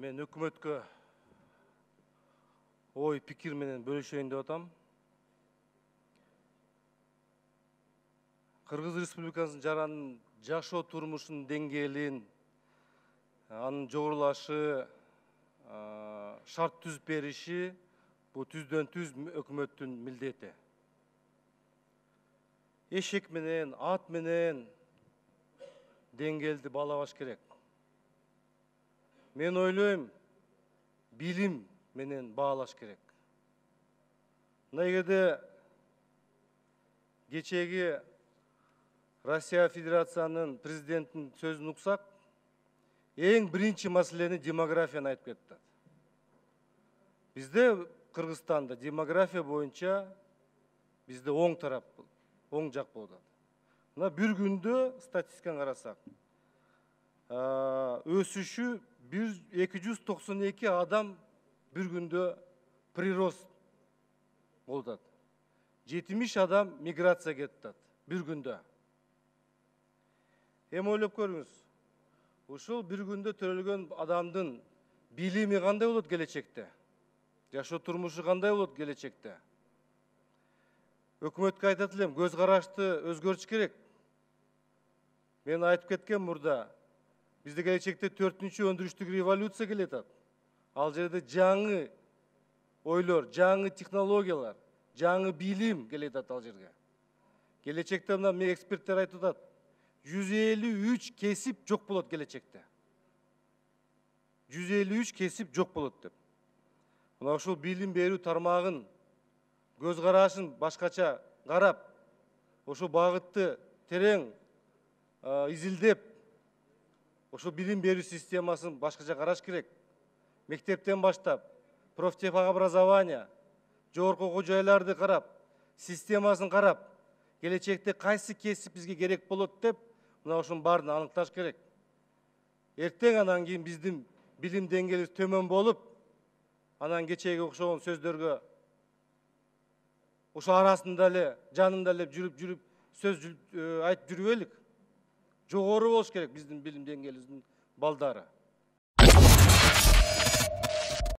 Мен өкмөткө ой пикир менен бөлүшөйүн деп атам. Кыргыз Республикасынын жаранын жашоо турмушунун деңгээлин, анын жогорулашы, шарт түзүп бериши бул түздөн түз өкмөттүн милдети. Эшек менен, ат менен деңгээлди баалабаш керек. Мен ойлойм, билим менен баалаш керек. Мына эгерде кечеги Россия Федерациянын президентинин сөзүн уксак, эң биринчи маселени демографияны айтып кетти. Бизде Кыргызстанда демография боюнча бизде оң тарап, оң жак болуп атат. Мына бир күндө статистиканы карасак, өсүшү 292 адам бир күндө прирост болуп атат. 70 адам миграция кетип атат бир күндө. Эми ойлоп көрүңүз. Ушул бир күндө төрөлгөн адамдын билими кандай болот келечекте? Жашоо турмушу кандай болот келечекте? Өкмөткө айтат элем, көз карашты өзгөртүш керек. Мен айтып кеткен мурда, бизде келечекте 4-чү өндүрүштүк революция келет атат. Ал жерде жаңы ойлор, жаңы технологиялар, жаңы билим келет атат ал жерге. Келечекте мына эксперттер айтып атат, 153 кесип жок болот келечекте. 153 кесип жок болот деп. Мына ушул билим берүү тармагын, көз карашын башкача карап, ошол багытты терең изилдеп, ошол билим берүү системасын башкача караш керек. Мектептен баштап, профтехобразование, жогорку окуу жайларды карап, системасын карап, келечекте кайсы кесип бизге керек болот деп, мына ошонун баарын аныкташ керек. Эртең анан кийин биздин билим деңгээлибиз төмөн болуп, анан кечеги окшогон сөздөргө ошо арасында эле, жанында эле жүрүп сөз айтып жүрбөйлүк. Жогору болуш керек биздин билим деңгээлибиздин балдары.